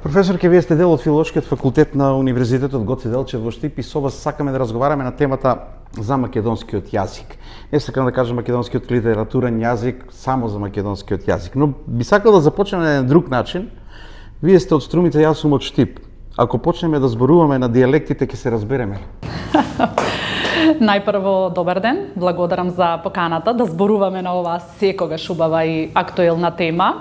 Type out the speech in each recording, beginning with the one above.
Професорке, вие сте дел од филолошкиот факултет на Универзитетот Гоце Делчев во Штип и со вас сакаме да разговараме на темата за македонскиот јазик. Не сакам да кажам македонскиот литературен јазик, само за македонскиот јазик, но би сакал да започнеме на еден друг начин. Вие сте од Струмица, јас сум од Штип. Ако почнеме да зборуваме на дијалектите, ќе се разбереме. Најпрво, добар ден, благодарам за поканата да зборуваме на оваа секогаш убава и актуелна тема.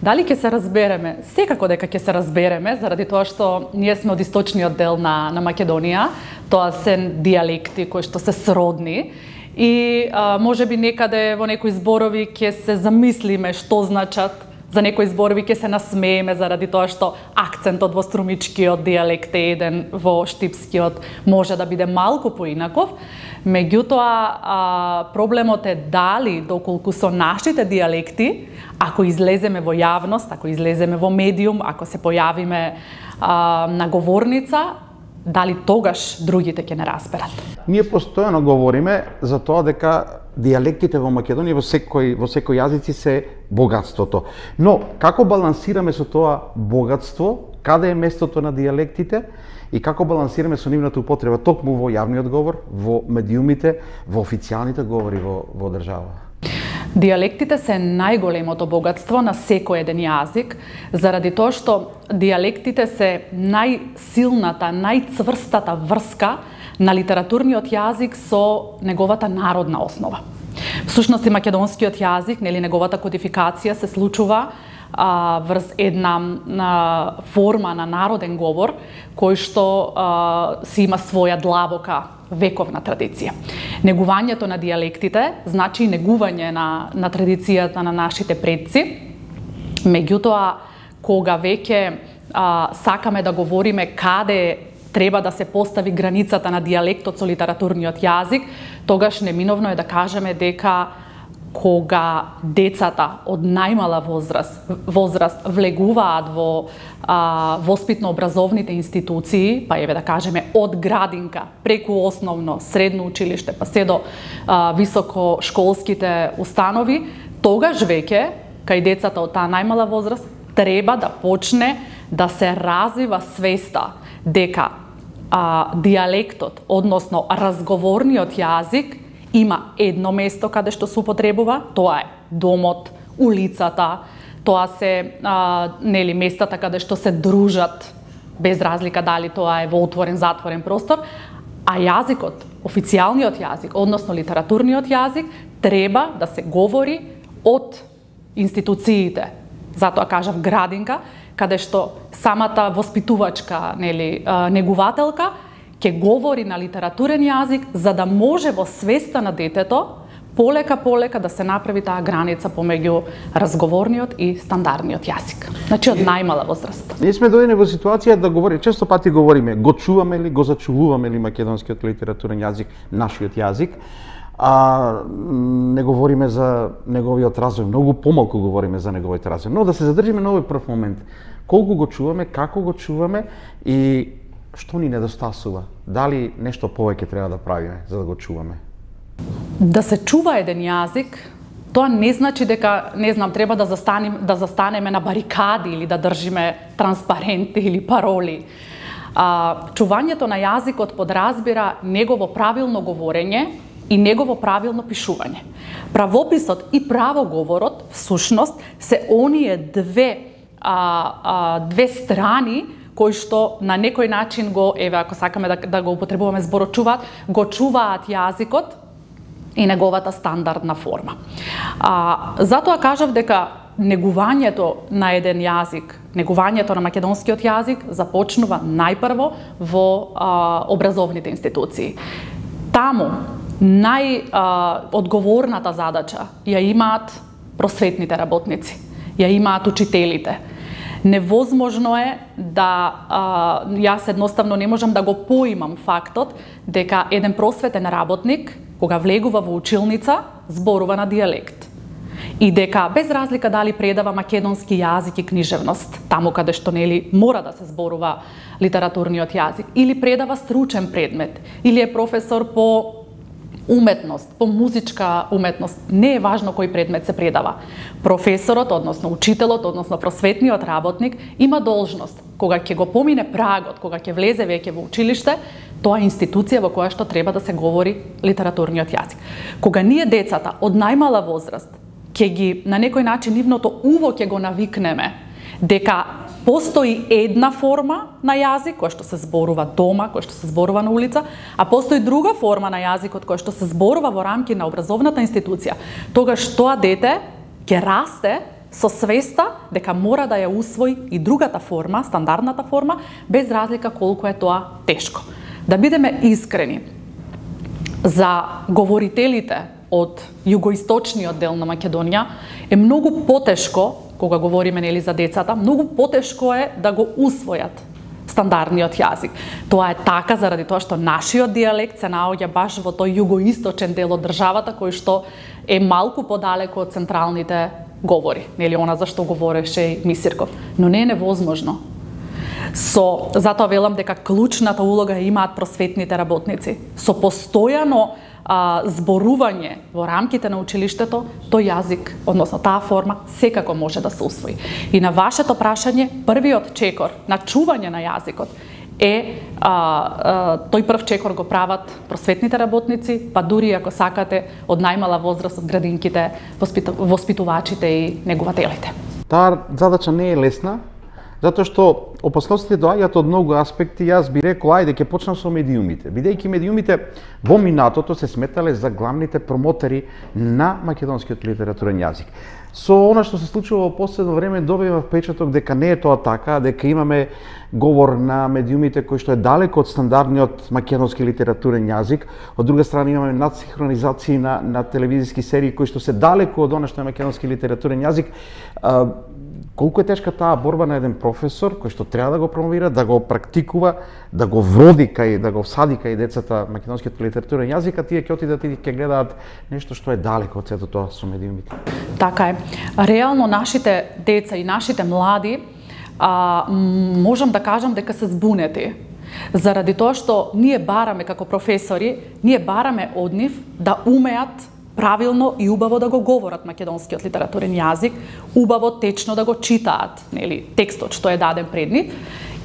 Дали ќе се разбереме? Секако дека ќе се разбереме, заради тоа што ние сме од источниот дел на Македонија. Тоа се дијалекти кои што се сродни и можеби некаде во некои зборови ќе се замислиме што значат, за некои зборови ќе се насмееме заради тоа што акцентот во струмичкиот дијалект е еден, во штипскиот може да биде малку поинаков. Меѓутоа, проблемот е дали, доколку со нашите дијалекти, ако излеземе во јавност, ако излеземе во медиум, ако се појавиме на говорница, дали тогаш другите ќе не разберат. Ние постојано говориме за тоа дека дијалектите во Македонија во секој јазици се богатството. Но како балансираме со тоа богатство? Каде е местото на дијалектите и како балансираме со нивната употреба токму во јавниот говор, во медиумите, во официјалните говори во држава? Дијалектите се најголемото богатство на секој еден јазик, заради тоа што дијалектите се најсилната, најцврстата врска на литературниот јазик со неговата народна основа. Всушност и македонскиот јазик, неговата кодификација се случува врз една форма на народен говор кој што си има своја длабока вековна традиција. Негувањето на дијалектите значи негување на традицијата на нашите предци. Меѓутоа, кога веќе сакаме да говориме каде треба да се постави границата на дијалектот со литературниот јазик, тогаш неминовно е да кажеме дека кога децата од најмала возраст влегуваат во воспитно-образовните институции, па еве да кажеме од градинка, преку основно, средно училиште, па се до високошколските установи, тогаш веќе кај децата од таа најмала возраст треба да почне да се развива свеста дека дијалектот, односно разговорниот јазик, има едно место каде што се употребува, тоа е домот, улицата, тоа се местата каде што се дружат, без разлика дали тоа е во отворен, затворен простор, а јазикот, официјалниот јазик, односно литературниот јазик, треба да се говори од институциите. Затоа кажав градинка, каде што самата воспитувачка негувателка ќе говори на литературен јазик, за да може во свеста на детето полека да се направи таа граница помеѓу разговорниот и стандардниот јазик. Значи од најмала возраст. Ние сме дојдени во ситуација да говориме, често пати говориме, го чуваме ли, го зачувуваме ли македонскиот литературен јазик, нашиот јазик, а не говориме за неговиот развој, многу помалку говориме за неговиот развој. Но да се задржиме на овој прв момент. Колку го чуваме, како го чуваме и што ни недостасува? Дали нешто повеќе треба да правиме за да го чуваме? Да се чува еден јазик, тоа не значи дека, не знам, треба да застанеме на барикади или да држиме транспаренти или пароли. Чувањето на јазикот подразбира негово правилно говорење и негово правилно пишување. Правописот и правоговорот, всушност, се оние две страни кои што на некој начин го, еве ако сакаме да го употребуваме зборот чуваат, го чуваат јазикот и неговата стандардна форма. Затоа кажав дека негувањето на еден јазик, негувањето на македонскиот јазик започнува најпрво во образовните институции. Таму најодговорната задача ја имаат просветните работници, ја имаат учителите. Невозможно е да јас едноставно не можам да го поимам фактот дека еден просветен работник кога влегува во училница зборува на дијалект и дека без разлика дали предава македонски јазик и книжевност, таму каде што мора да се зборува литературниот јазик, или предава стручен предмет, или е професор по уметност, по музичка уметност, не е важно кој предмет се предава. Професорот, односно учителот, односно просветниот работник има должност, кога ќе го помине прагот, кога ќе влезе веќе во училиште, тоа е институција во која што треба да се говори литературниот јазик. Кога ние децата од најмала возраст ќе ги на некој начин нивното уво ќе го навикнеме дека постои една форма на јазик која што се зборува дома, која што се зборува на улица, а постои друга форма на јазикот која што се зборува во рамки на образовната институција, тогаш тоа дете ќе расте со свеста дека мора да ја усвои и другата форма, стандардната форма, без разлика колку е тоа тешко. Да бидеме искрени, за говорителите од југоисточниот дел на Македонија е многу потешко, кога говориме нели за децата, многу потешко е да го усвојат стандардниот јазик. Тоа е така заради тоа што нашиот дијалект се наоѓа баш во тој југоисточен дел од државата кој што е малку подалеку од централните говори, нели она за што говореше и Мисирков, но не е невозможно. Затоа велам дека клучната улога имаат просветните работници. Со постојано зборување во рамките на училиштето, тој јазик, односно таа форма, секако може да се усвои. И на вашето прашање, првиот чекор на чување на јазикот е тој прв чекор го прават просветните работници, па дури ако сакате од најмала возраст од градинките, воспитувачите и негователите. Таа задача не е лесна, затоа што опасностите доаѓаат од многу аспекти. Јас би рекол, ајде ќе почнам со медиумите. Бидејќи медиумите во минатото се сметале за главните промотери на македонскиот литературен јазик. Со она што се случува во последно време добива впечаток дека не е тоа така, дека имаме говор на медиумите кој што е далеко од стандардниот македонски литературен јазик. Од друга страна имаме надсинхронизации на телевизиски серии кои што се далеко од она што е македонски литературен јазик. Колку е тешка таа борба на еден професор кој што треба да го промовира, да го практикува, да го вроди кај, да го всади кај децата македонскиот литературен јазик, а тие ќе отидат и ќе гледаат нешто што е далеко од сето тоа со медиумите. Така е. Реално нашите деца и нашите млади можам да кажам дека се збунети. Заради тоа што ние бараме како професори, ние бараме од нив да умеат правилно и убаво да го говорат македонскиот литературен јазик, убаво течно да го читаат, нели, текстот што е даден пред нив.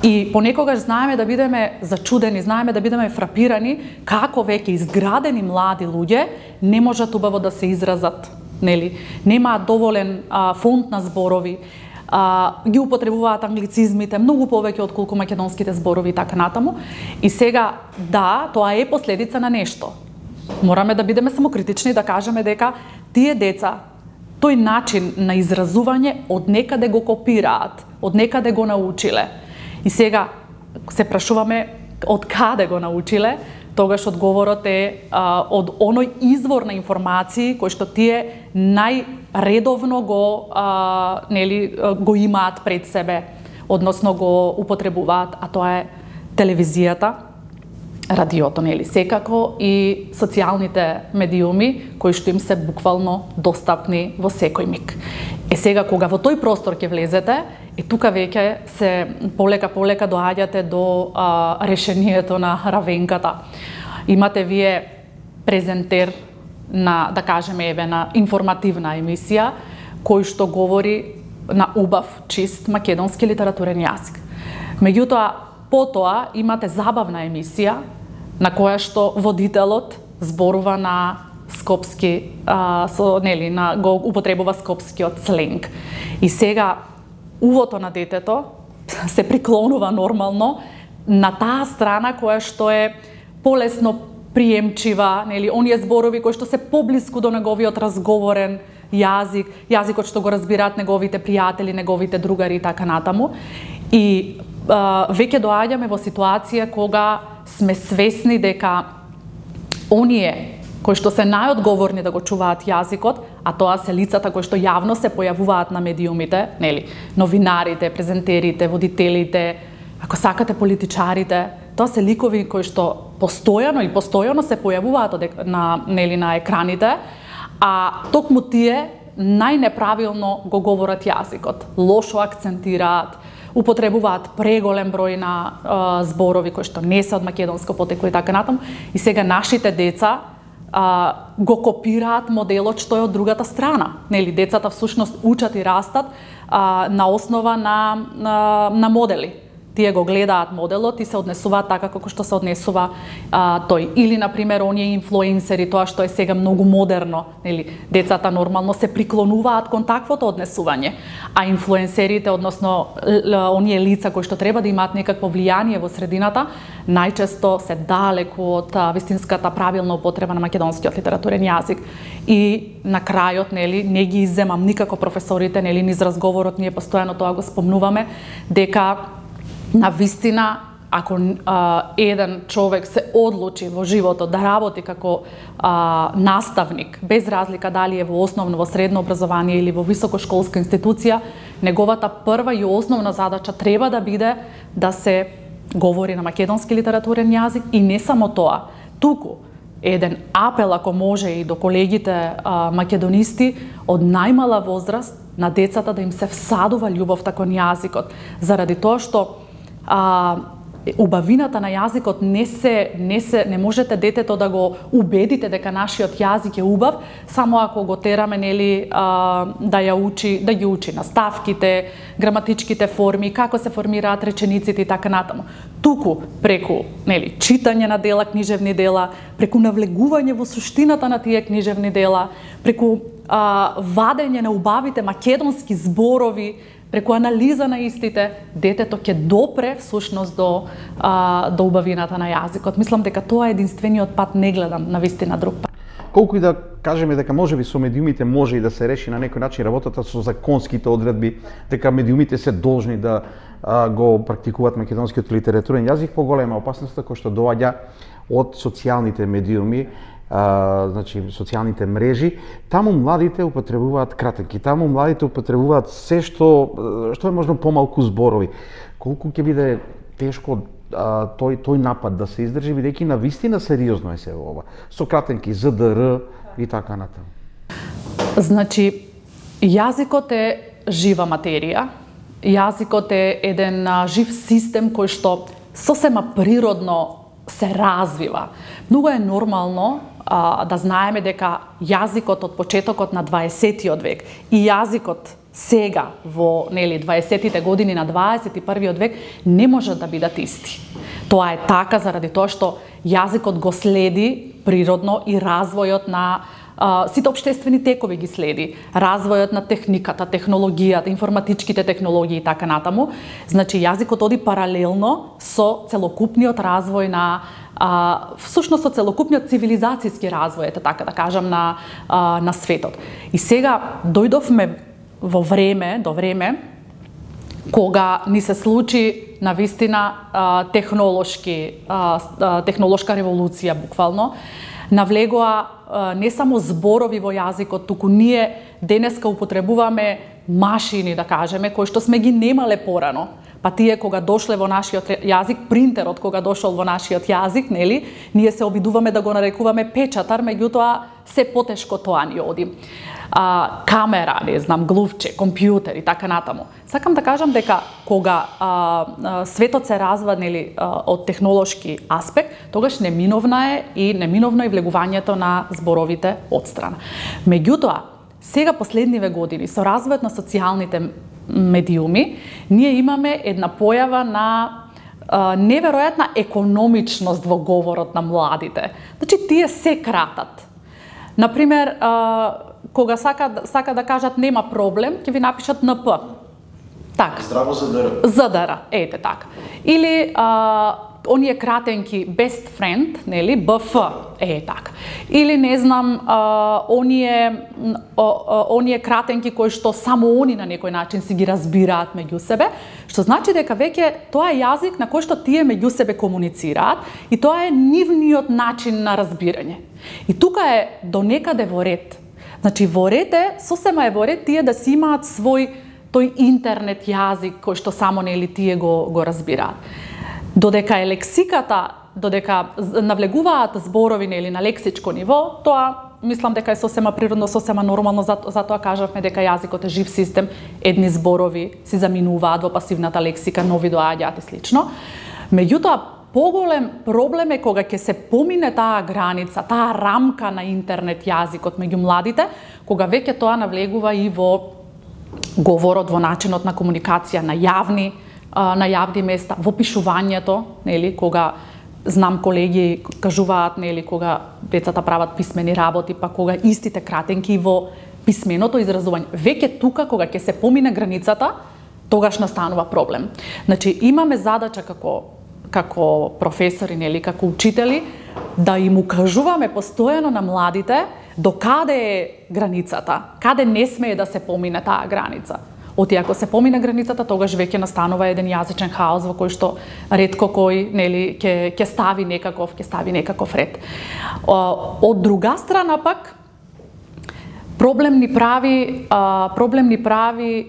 И понекогаш знаеме да бидеме зачудени, знаеме да бидеме фрапирани како веќе изградени млади луѓе не можат убаво да се изразат, нели, немаат доволен фонд на зборови, ги употребуваат англицизмите многу повеќе отколку македонските зборови и така натаму. И сега, да, тоа е последица на нешто. Мораме да бидеме самокритични и да кажеме дека тие деца тој начин на изразување од некаде го копираат, од некаде го научиле. И сега се прашуваме од каде го научиле, тогаш одговорот е од оној извор на информации кој што тие најредовно го имаат пред себе, односно го употребуваат, а тоа е телевизијата, радиото, нели, секако и социјалните медиуми кои што им се буквално достапни во секој миг. Сега кога во тој простор ќе влезете, тука веќе се полека доаѓате до решението на равенката. Имате вие презентер на, да кажеме, на информативна емисија кој што говори на убав, чист македонски литературен јазик. Меѓутоа, потоа имате забавна емисија на која што водителот зборува на скопски, го употребува скопскиот сленг. И сега увото на детето се приклонува нормално на таа страна која што е полесно приемчива, нели, оние зборови кои што се поблиску до неговиот разговорен јазик, јазикот што го разбираат неговите пријатели, неговите другари и така натаму. И веќе доаѓаме во ситуација кога сме свесни дека оние кои што се најодговорни да го чуваат јазикот, а тоа се лицата кои што јавно се појавуваат на медиумите, нели, новинарите, презентерите, водителите, ако сакате политичарите, тоа се ликови кои што постојано се појавуваат на екраните, а токму тие најнеправилно го говорат јазикот, лошо акцентираат, употребуваат преголем број на зборови кои што не се од македонско потекло и така натаму. И сега нашите деца го копираат моделот што е од другата страна. Нели, децата всушност учат и растат на основа на модели. Тие го гледаат моделот и се однесуваат така како што се однесува тој. Или, например, оние инфлуенсери, тоа што е сега многу модерно, нели, децата нормално се приклонуваат кон таквото однесување, а инфлуенсерите, односно оние лица кои што треба да имаат некакво влијание во средината, најчесто се далеку од вистинската правилна употреба на македонскиот литературен јазик. И на крајот, нели, не ги изземам никако професорите, нели, низ разговорот ние постојано тоа го спомнуваме, дека на вистина, ако еден човек се одлучи во животот да работи како наставник, без разлика дали е во основно, во средно образование или во високошколска институција, неговата прва и основна задача треба да биде да се говори на македонски литературен јазик и не само тоа. Туку еден апел, ако може, и до колегите македонисти од најмала возраст на децата да им се всадува љубовта кон јазикот, заради тоа што убавината на јазикот не можете детето да го убедите дека нашиот јазик е убав само ако го тераме, нели, да ги учи наставките, граматичките форми, како се формираат речениците и така натаму. Туку преку, нели, читање на дела, книжевни дела, преку навлегување во суштината на тие книжевни дела, преку вадење на убавите македонски зборови, преку анализа на истите, детето ќе допре всушност до убавината на јазикот. Мислам дека тоа е единствениот пат, не гледам на вистина друг пат. Колку и да кажеме дека можеби со медиумите може и да се реши на некој начин работата со законските одредби, дека медиумите се должни да го практикуваат македонскиот литературен јазик, поголема опасноста која што доаѓа од социјалните медиуми, значи социјалните мрежи. Таму младите употребуваат кратенки, таму младите употребуваат се што е можно помалку зборови. Колку ќе биде тешко тој напад да се издржи, бидејќи на вистина сериозно е се ова. Со кратенки, ЗДР и така натаму. Значи, јазикот е жива материја. Јазикот е еден жив систем кој што сосема природно се развива. Многу е нормално да знаеме дека јазикот од почетокот на 20-тиот век и јазикот сега во, нели, 20-тите години на 21-виот век не можат да бидат исти. Тоа е така заради тоа што јазикот го следи природно и развојот на сите општествени текови ги следи. Развојот на техниката, технологијата, информатичките технологии и така натаму. Значи, јазикот оди паралелно со целокупниот развој на всушност со целокупниот цивилизацијски развој, така да кажам, на светот. И сега дојдовме до време кога ни се случи на вистина технолошка револуција буквално. Навлегоа не само зборови во јазикот, туку ние денеска употребуваме машини, да кажеме, кои што сме ги немале порано. Па тие кога дошле во нашиот јазик, принтерот кога дошол во нашиот јазик, нели, ние се обидуваме да го нарекуваме печатар, меѓутоа се потешко тоа ни оди. Камера, не знам, глувче, компјутер и така натаму. Сакам да кажам дека кога светот се развива, нели, од технолошки аспект, тогаш неминовно е влегувањето на зборовите одстрана. Меѓутоа, сега последниве години со развојот на социјалните медиуми, ние имаме една појава на неверојатна економичност во говорот на младите. Значи, тие се кратат. Например, кога сака да кажат нема проблем, ќе ви напишат НП. Така. Здраво ЗДР. ЗДР, ете така. Или оние кратенки best friend, нели, БФ, така. Или не знам, оние кратенки кои што само они на некој начин си ги разбираат меѓу себе, што значи дека веќе тоа е јазик на кој што тие меѓу себе комуницираат и тоа е нивниот начин на разбирање. И тука е до некаде во ред. Значи, во ред е, сосема е во ред тие да си имаат тој интернет јазик кој што само, нели, тие го разбираат. Додека е лексиката, додека навлегуваат зборови, нели, на лексичко ниво, тоа мислам дека е сосема природно, сосема нормално, затоа кажавме дека јазикот е жив систем, едни зборови си заминуваат во пасивната лексика, нови доаѓаат и слично. Меѓутоа, поголем проблем е кога ќе се помине таа граница, таа рамка на интернет јазикот меѓу младите, кога веќе тоа навлегува и во говорот, во начинот на комуникација на јавни места, во пишувањето, нели, кога знам колеги кажуваат, нели, кога децата прават писмени работи, па кога истите кратенки во писменото изразување. Веќе тука кога ќе се помине границата, тогаш настанува проблем. Значи имаме задача како професори, нели, како учители, да им укажуваме постојано на младите до каде е границата, каде не смее да се помине таа граница. Оти ако се помине границата, тогаш веќе настанува еден јазичен хаос во кој што ретко кој, нели, ќе стави некаков ред. Од друга страна пак проблем ни прави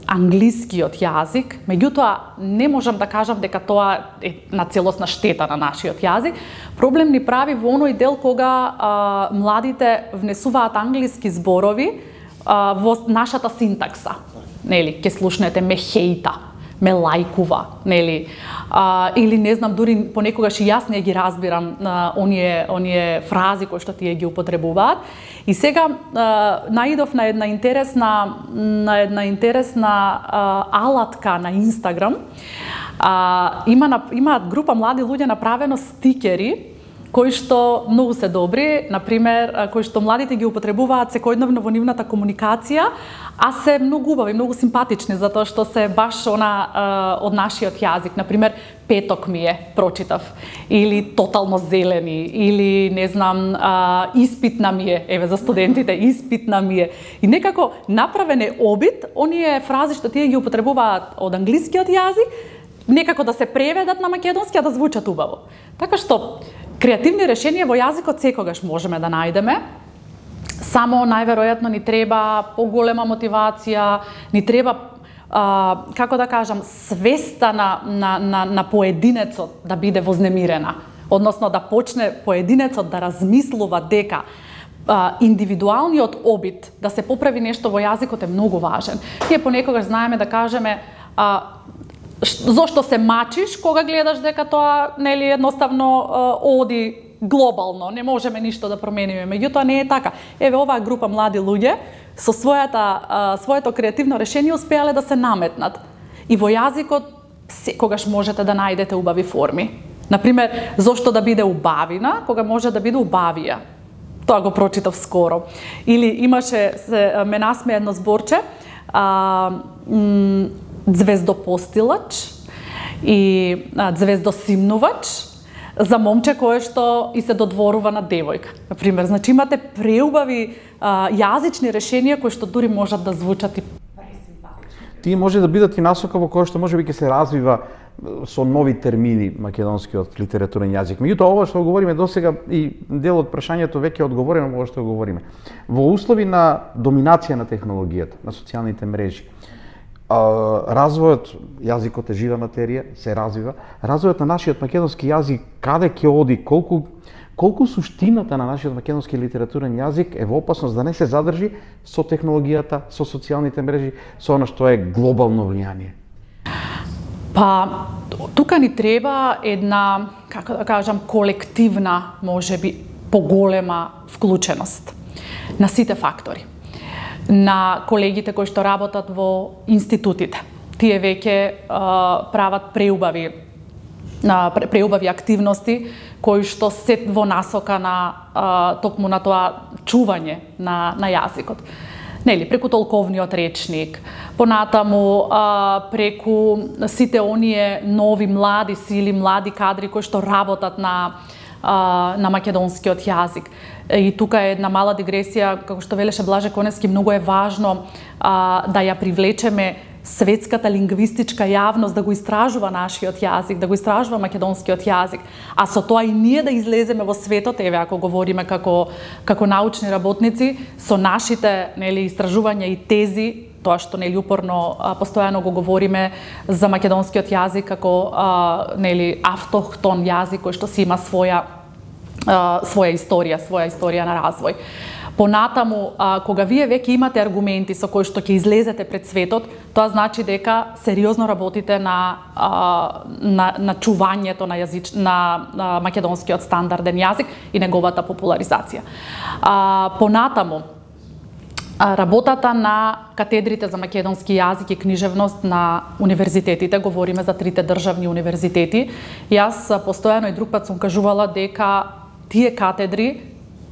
англискиот јазик, меѓутоа не можам да кажам дека тоа е на целосна штета на нашиот јазик. Проблем ни прави во оној дел кога младите внесуваат англиски зборови во нашата синтакса. Нели, ќе слушнете ме хејта, ме лајкува, нели, или не знам, дури понекогаш и јас не ги разбирам оние фрази кои што тие ги употребуваат. И сега наидов на една интересна алатка на Инстаграм. Имаат група млади луѓе направено стикери кои што многу се добри, например, кои што младите ги употребуваат секојдневно во нивната комуникација, а се многу убави, многу симпатични, затоа што се баш од нашиот јазик. Например, петок ми е, прочитав, или тотално зелени, или не знам, испитна ми е, еве за студентите, испитна ми е. И некако направен е обид, оние фрази што тие ги употребуваат од англискиот јазик, некако да се преведат на македонски, а да звучат убаво. Така што креативни решенија во јазикот секогаш можеме да најдеме, само најверојатно ни треба поголема мотивација, ни треба, како да кажам, свеста на поединецот да биде вознемирена, односно да почне поединецот да размислува дека индивидуалниот обид да се поправи нешто во јазикот е многу важен. Ние понекогаш знаеме да кажеме зошто се мачиш кога гледаш дека тоа, нели, едноставно оди глобално, не можеме ништо да промениме. Меѓутоа не е така. Еве оваа група млади луѓе со своето креативно решение успеале да се наметнат. И во јазикот секогаш можете да најдете убави форми. Например, зошто да биде убавина кога може да биде убавија. Тоа го прочитав скоро. Или ме насме едно зборче, звездопостилач и звездосимнувач за момче кое што и се додворува на девојка. Например, значи имате преубави јазични решенија кои што дури можат да звучат и пресимпатични. Тие може да бидат и насока во која што можеби ќе се развива со нови термини македонскиот литературен јазик. Меѓутоа ова што говориме досега и дел од прашањето веќе е одговорено во ова што говориме. Во услови на доминација на технологијата, на социјалните мрежи, развојот, јазикот е жива материја, се развива. Развојот на нашиот македонски јазик каде ќе оди, колку суштината на нашиот македонски литературен јазик е во опасност да не се задржи со технологијата, со социјалните мрежи, со она што е глобално влијание? Па, тука ни треба една, како да кажам, колективна, можеби, поголема вклученост на сите фактори. На колегите кои што работат во институтите. Тие веќе прават преубави активности кои што се во насока на токму на тоа чување на јазикот. Нели, преку толковниот речник, понатаму преку сите оние нови млади сили, млади кадри кои што работат на македонскиот јазик. И тука е една мала дигресија, како што велеше Блаже Коневски, многу е важно да ја привлечеме светската лингвистичка јавност да го истражува нашиот јазик, да го истражува македонскиот јазик, а со тоа и ние да излеземе во светот, еве ако говориме како научни работници, со нашите, нели, истражувања и тези, тоа што, нели, упорно постојано го говориме за македонскиот јазик како нели, автохтон јазик кој што си има своја историја на развој. Понатаму, кога вие веќе имате аргументи со кои што ќе излезете пред светот, тоа значи дека сериозно работите на чувањето на македонскиот стандарден јазик и неговата популаризација. Понатаму, работата на катедрите за македонски јазик и книжевност на универзитетите, говориме за 3 државни универзитети. Јас постојано и друг пат сум кажувала дека тие катедри,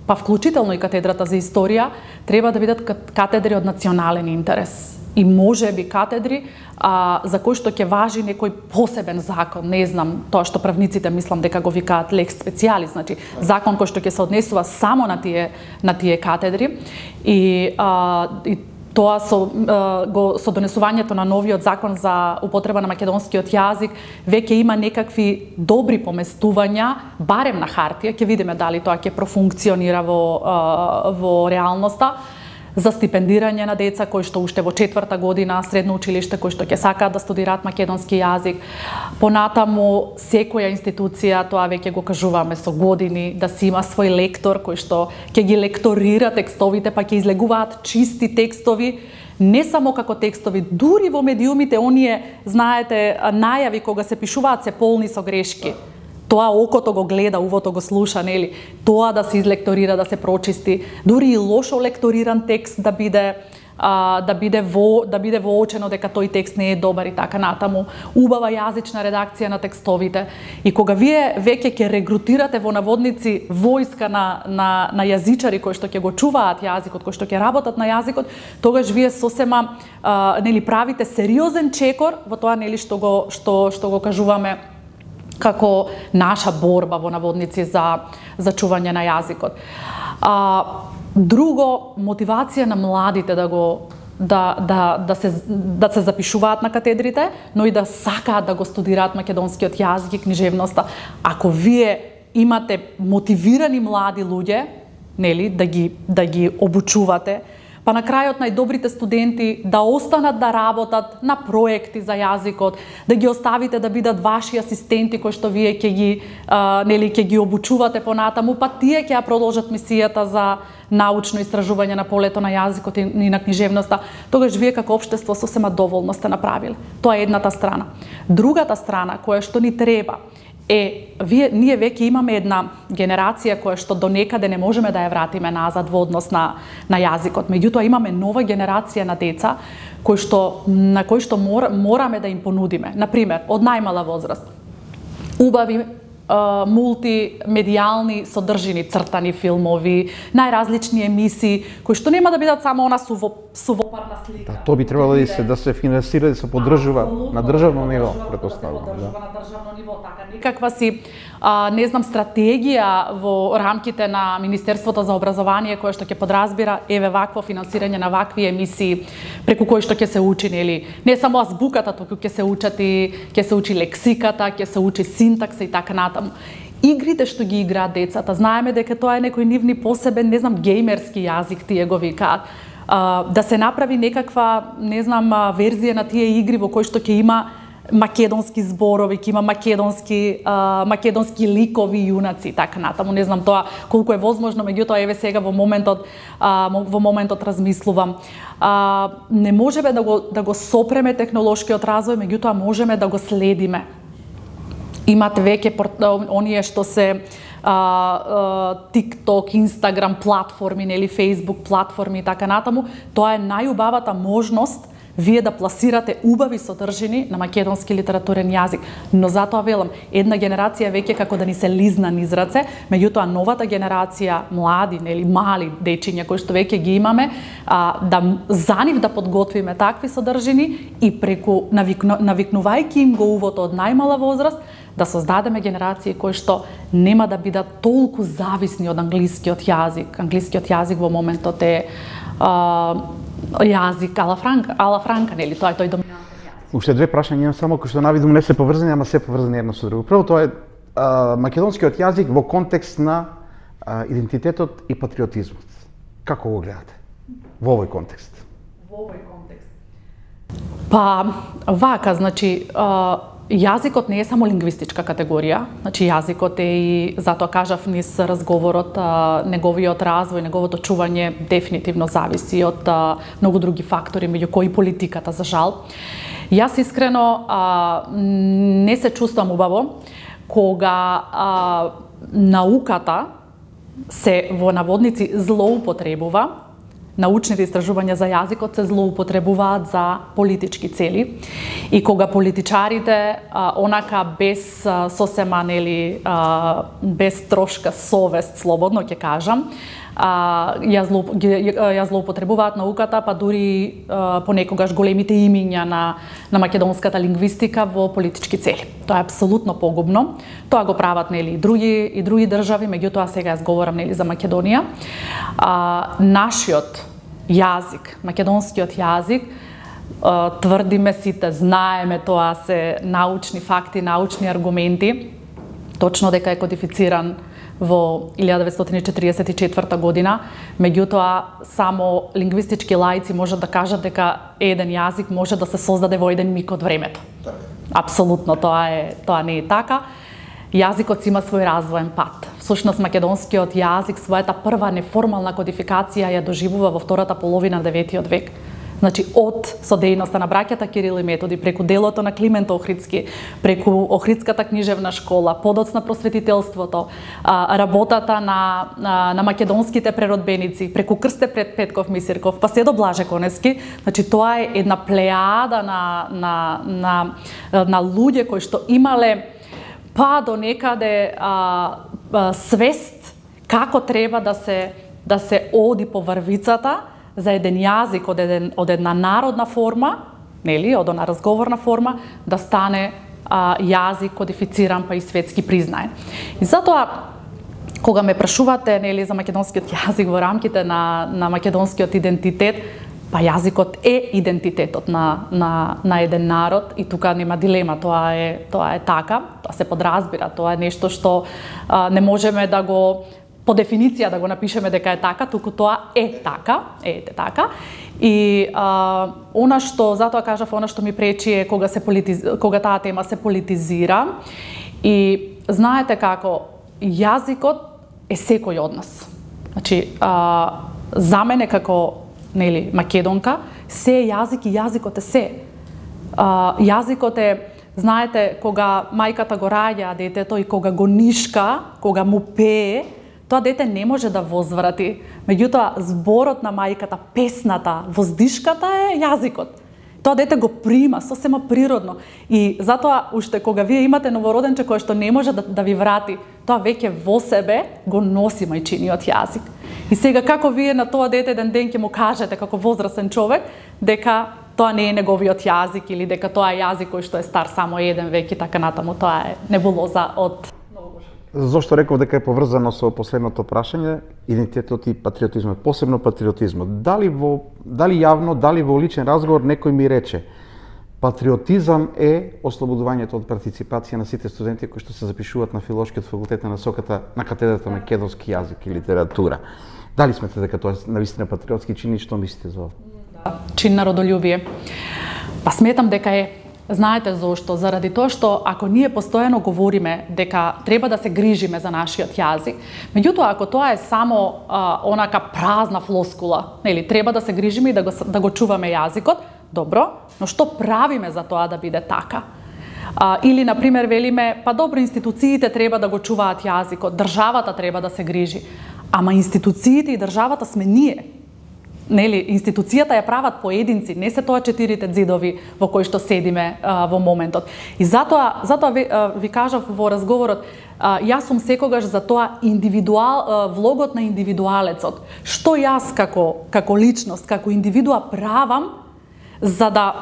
па вклучително и катедрата за историја, треба да бидат катедри од национален интерес. И можеби катедри за кои што ќе важи некој посебен закон, не знам, тоа што правниците мислам дека го викаат лекс специалис, значи закон кој што ќе се однесува само на тие катедри и тоа со донесувањето на новиот закон за употреба на македонскиот јазик веќе има некакви добри поместувања, барем на хартија, ќе видиме дали тоа ќе профункционира во реалноста, за стипендирање на деца кои што уште во 4-та година средно училиште, кои што ќе сакаат да студираат македонски јазик. Понатаму, секоја институција, тоа веќе го кажуваме со години, да си има свој лектор кој што ќе ги лекторира текстовите, па ќе излегуваат чисти текстови, не само како текстови, дури во медиумите оние, знаете, најави кога се пишуваат се полни со грешки. Тоа окото го гледа, увото го слуша, нели? Тоа да се излекторира, да се прочисти, дури и лошо лекториран текст да биде воочено дека тој текст не е добар и така натаму. Убава јазична редакција на текстовите. И кога вие веќе ќе регрутирате во наводници војска на јазичари кои што ќе го чуваат јазикот, кои што ќе работат на јазикот, тогаш вие сосема нели правите сериозен чекор во тоа нели што го кажуваме како наша борба во наводници за чување на јазикот. Друго, мотивација на младите да се запишуваат на катедрите, но и да сакаат да го студираат македонскиот јазик и книжевноста. Ако вие имате мотивирани млади луѓе, нели, да ги обучувате, па на крајот најдобрите студенти да останат да работат на проекти за јазикот, да ги оставите да бидат ваши асистенти кои што вие ќе ги обучувате понатаму, па тие ќе ја продолжат мисијата за научно истражување на полето на јазикот и на книжевноста, тогаш вие како општество сосема доволно сте направиле. Тоа е едната страна. Другата страна која што ни треба ние веќе имаме една генерација која што до некаде не можеме да ја вратиме назад во однос на јазикот. Меѓутоа имаме нова генерација на деца на кои што мораме да им понудиме. Например, од најмала возраст, убави мултимедијални содржини, цртани филмови, најразлични емисии, кои што нема да бидат само она сувопарна слика. Тоа би требало да се финансира, да се поддржува на државно ниво, претпоставувам. На државно ниво, така никаква си не знам стратегија во рамките на Министерството за образование која што ќе подразбира вакво финансирање на вакви емисии преку кои што ќе се учи не само азбуката, туку ќе се учи лексиката, ќе се учи синтакса и така натаму. Игрите што ги играат децата, знаеме дека тоа е некој нивни посебен, не знам, геймерски јазик, тие го викаат. Да се направи некаква, не знам, верзија на тие игри во кои што ќе има македонски зборови, ќе има македонски ликови јунаци и така натаму. Не знам тоа колку е возможно, меѓутоа сега во моментот размислувам. Не можеме да го сопреме технолошкиот развој, меѓутоа можеме да го следиме. Имат веќе оние што се TikTok, Instagram платформи, нели Facebook платформи и така натаму. Тоа е најубавата можност вие да пласирате убави содржини на македонски литературен јазик. Но затоа велам, една генерација веќе како да ни се лизна низ раце, меѓутоа новата генерација, млади, нели мали дечиња кои што веќе ги имаме, за нив да подготвиме такви содржини и преку навикнувајќи им го увото од најмала возраст, да создадеме генерации кои што нема да бидат толку зависни од англискиот јазик. Англискиот јазик во моментот е јазик ала франка, нели, тоа е тој доминантен јазик. Уште две прашања имам само кои што навидум не се поврзани, ама се поврзани едно со друго. Прво, тоа е македонскиот јазик во контекст на идентитетот и патриотизмот. Како го гледате во овој контекст? Во овој контекст. Па, вака, значи, Јазикот не е само лингвистичка категорија, значи јазикот е и, затоа кажав низ разговорот, неговиот развој, неговото чување дефинитивно зависи од многу други фактори, меѓу кои политиката, за жал. Јас искрено не се чувствам убаво кога науката се во наводници злоупотребува, научните истражувања за јазикот се злоупотребуваат за политички цели и кога политичарите онака без сосема без трошка совест, слободно ќе кажам, ја злоупотребуваат науката, па дури понекогаш големите имиња на македонската лингвистика во политички цели. Тоа е апсолутно погубно. Тоа го прават и други држави, меѓутоа сега јас говорам за Македонија. Нашиот јазик, македонскиот јазик, тврдиме сите, знаеме, тоа се научни факти, научни аргументи, точно дека е кодифициран во 1944 година, меѓутоа само лингвистички лаици можат да кажат дека еден јазик може да се создаде во еден миг од времето. Апсолутно, тоа не е така. Јазикот си има свој развоен пат. Всушност, македонскиот јазик својата прва неформална кодификација ја доживува во втората половина на 9 век. Значи, од содејноста на браќата Кирил и Методи, преку делото на Климент Охридски, преку Охридската книжевна школа, подоцна просветителството, работата на македонските преродбеници, преку Крсте пред Петков Мисирков, па се до Блаже Конески, значи тоа е една плејада на луѓе кои што имале па до некаде свест како треба да се оди по врвицата за еден јазик од една народна форма, од една разговорна форма, да стане јазик кодифициран па и светски признаен. И затоа, кога ме прашувате за македонскиот јазик во рамките на македонскиот идентитет, па јазикот е идентитетот на еден народ и тука нема дилема, тоа е така, тоа се подразбира, тоа е нешто што не можеме да го по дефиниција да го напишеме дека е така, туку тоа е така. И затоа кажав, она што ми пречи е кога таа тема се политизира. И знаете како, јазикот е секој од нас. Значи, за мене како македонка, се е јазик и јазикот е се. Јазикот е, знаете, кога мајката го раѓа детето и кога го нишка, кога му пее, тоа дете не може да возврати. Меѓутоа, зборот на мајката, песната, воздишката е јазикот. Тоа дете го прима сосема природно. И затоа, уште кога вие имате новороденче кој што не може да ви врати, тоа веќе во себе го носи мајчиниот јазик. И сега како вие на тоа дете еден ден ќе му кажете како возрастен човек дека тоа не е неговиот јазик или дека тоа е јазик кој што е стар само еден век и така натаму, тоа е небулоза од... Зошто реков дека е поврзано со последното прашање, идентитетот и патриотизмот, посебно патриотизмот. Дали јавно, дали во личен разговор некој ми рече патриотизам е ослободувањето од партиципација на сите студенти кои што се запишуваат на филолошкиот факултет на насоката на катедрата на македонски јазик и литература. Дали смете дека тоа е навистина патриотски чин и што мислите за ова? Чин на родолюбие. Па сметам дека е. Знаете зошто? Заради тоа што ако ние постојано говориме дека треба да се грижиме за нашиот јазик, меѓутоа ако тоа е само онака празна флоскула, треба да се грижиме и да го чуваме јазикот, добро, но што правиме за тоа да биде така? Или, например, велиме, па добро, институциите треба да го чуваат јазикот, државата треба да се грижи. Ама институциите и државата сме ние. Институцијата ја прават поединци, не се тоа четирите ѕидови во кои што седиме во моментот. И затоа ви кажав во разговорот, јас сум секогаш за тоа влогот на индивидуалецот. Што јас како личност, како индивидуа правам за да,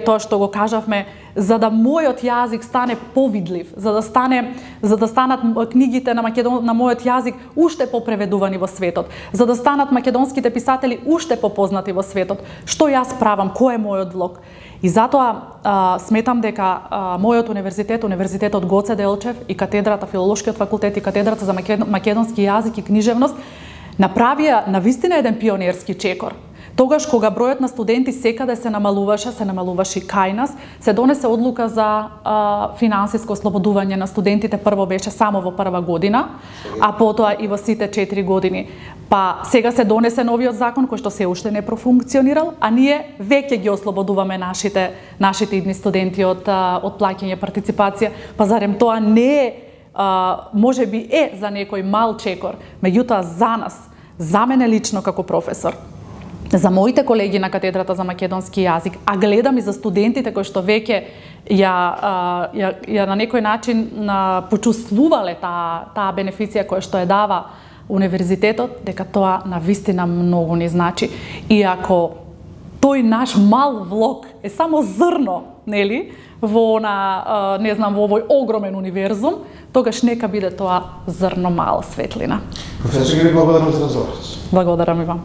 тоа што го кажавме, за да мојот јазик стане повидлив, за да станат книгите на мојот јазик уште попреведувани во светот, за да станат македонските писатели уште попознати во светот. Што јас правам, кој е мојот влог? И затоа сметам дека мојот универзитетот Гоце Делчев и катедрата Филолошкиот факултет и катедрата за македонски јазик и книжевност направија навистина еден пионерски чекор. Тогаш кога бројот на студенти секаде се намалуваше и кај нас, се донесе одлука за финансиско ослободување на студентите. Прво беше само во прва година, а потоа и во сите 4 години. Па сега се донесе новиот закон кој што се уште не профункционирал, а ние веќе ги ослободуваме нашите идни студенти од плаќање партиципација. Па зарем тоа не е, може би е за некој мал чекор, меѓутоа за нас, за мене лично како професор, за моите колеги на катедрата за македонски јазик, а гледам и за студентите кои што веќе ја на некој начин почувствувале таа бенефиција која што ја дава универзитетот, дека тоа навистина многу ни значи. И ако тој наш мал влог е само зрно, нели, во во овој огромен универзум, тогаш нека биде тоа зрно мала светлина. Професор, благодарам за разговорот. Благодарам и вам.